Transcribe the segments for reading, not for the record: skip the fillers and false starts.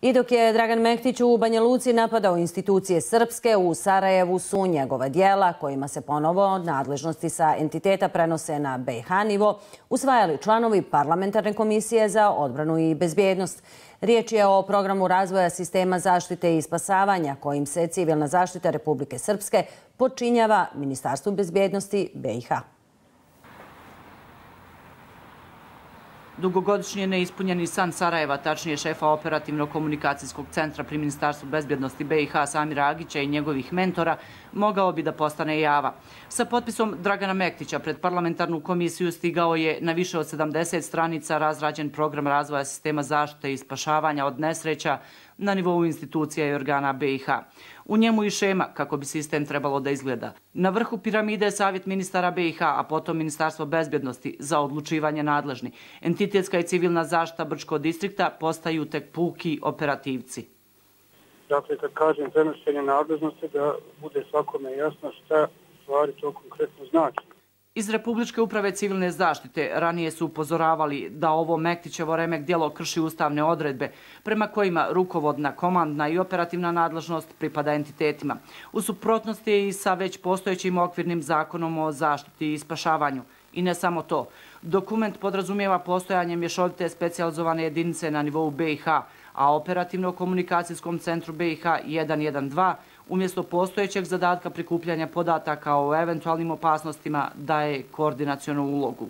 I dok je Dragan Mehtić u Banja Luci napadao institucije srpske, u Sarajevu su njegova djela, kojima se ponovo nadležnosti sa entiteta prenose na BiH nivo, usvajali članovi Parlamentarne komisije za odbranu i bezbjednost. Riječ je o programu razvoja sistema zaštite i spasavanja, kojim se civilna zaštita Republike Srpske podčinjava Ministarstvu bezbjednosti BiH. Dugogodišnji neispunjeni san Sarajeva, tačnije šefa operativno-komunikacijskog centra pri Ministarstvu bezbjednosti BiH Samira Agića i njegovih mentora, mogao bi da postane java. Sa potpisom Dragana Mehtića pred parlamentarnu komisiju stigao je na više od 70 stranica razrađen program razvoja sistema zaštite i spašavanja od nesreća na nivou institucija i organa BiH. U njemu i šema kako bi sistem trebalo da izgleda. Na vrhu piramide je Savjet ministara BiH, a potom Ministarstvo bezbjednosti za odlučivanje nadležni. Entitetska i civilna zaštita Brčkog distrikta postaju tek puki operativci. Dakle, kad kažem prenošenje nadležnosti, da bude svakome jasno šta stvari to konkretno znači. Iz Republičke uprave civilne zaštite ranije su upozoravali da ovo Mehtićevo remek djelo krši ustavne odredbe prema kojima rukovodna, komandna i operativna nadležnost pripada entitetima. U suprotnosti je i sa već postojećim okvirnim zakonom o zaštiti i spašavanju. I ne samo to. Dokument podrazumijeva postojanje mješovite specijalizovane jedinice na nivou BiH, a operativno-komunikacijskom centru BiH 112 umjesto postojećeg zadatka prikupljanja podataka o eventualnim opasnostima daje koordinacionu ulogu.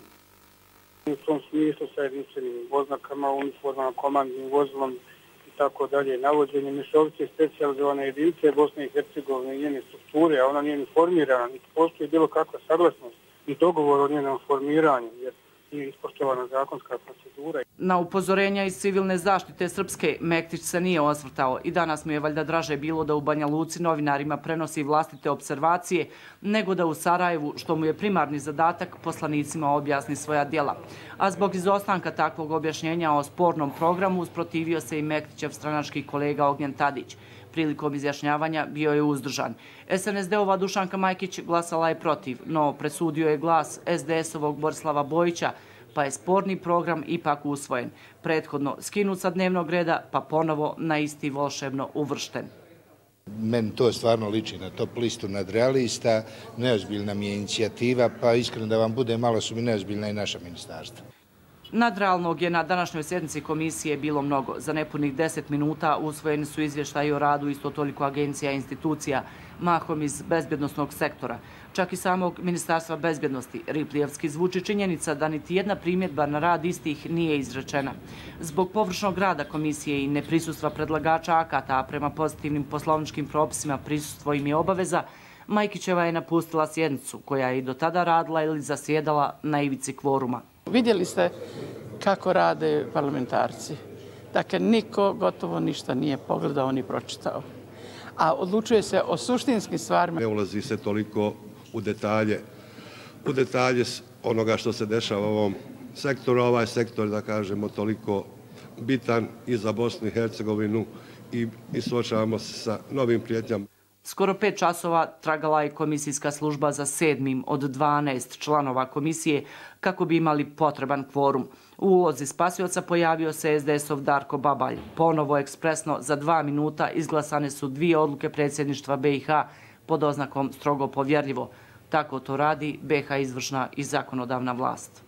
U tom smislu sa jedinstvenim oznakama, uniformama, komandnim vozilom i tako dalje, navođenje mješovite specijalizovane jedinice Bosne i Hercegovine i njene strukture, a ona nije ni formirana, niti postoji bilo kakva saglasnost i dogovor o njenom formiranju, jer nije ispoštovana zakonska procedura. Na upozorenja iz civilne zaštite Srpske Mehtić se nije osvrtao i danas mu je valjda draže bilo da u Banja Luci novinarima prenosi vlastite observacije nego da u Sarajevu, što mu je primarni zadatak, poslanicima objasni svoja djela. A zbog izostanka takvog objašnjenja o spornom programu usprotivio se i Mehtićev stranački kolega Ognjen Tadić. Prilikom izjašnjavanja bio je uzdržan. SNSD-ova Dušanka Majkić glasala je protiv, no presudio je glas SDS-ovog Borislava Bojića, pa je sporni program ipak usvojen. Prethodno skinut sa dnevnog reda, pa ponovo na isti volšebno uvršten. Meni to stvarno liči na top listu nadrealista, neozbiljna mi je inicijativa, pa iskreno da vam bude, malo su mi neozbiljna i naša ministarstva. Nadrealnog je na današnjoj sjednici komisije bilo mnogo. Za nepunih 10 minuta usvojeni su izvještaji o radu isto toliko agencija i institucija, mahom iz bezbjednosnog sektora. Čak i samog Ministarstva bezbjednosti Riplijevski zvuči činjenica da niti jedna primjedba na rad istih nije izrečena. Zbog površnog rada komisije i neprisustva predlagača akata, a prema pozitivnim poslovničkim propisima prisustvo im je obaveza, Majkićeva je napustila sjednicu, koja je i do tada radila ili zasjedala na ivici kvoruma. Vidjeli ste kako rade parlamentarci. Dakle, niko gotovo ništa nije pogledao ni pročitao. A odlučuje se o suštinskim stvarima. Ne ulazi se toliko u detalje onoga što se dešava u ovom sektoru. Ovaj sektor, da kažemo, toliko bitan i za Bosnu i Hercegovinu i suočavamo se sa novim prijetnjama. Skoro 5 časova tragala je komisijska služba za 7. od 12 članova komisije kako bi imali potreban kvorum. U ulozi spasioca pojavio se SDS-ov Darko Babalj. Ponovo ekspresno za 2 minuta izglasane su 2 odluke predsjedništva BiH pod oznakom strogo povjerljivo. Tako to radi BiH izvršna i zakonodavna vlast.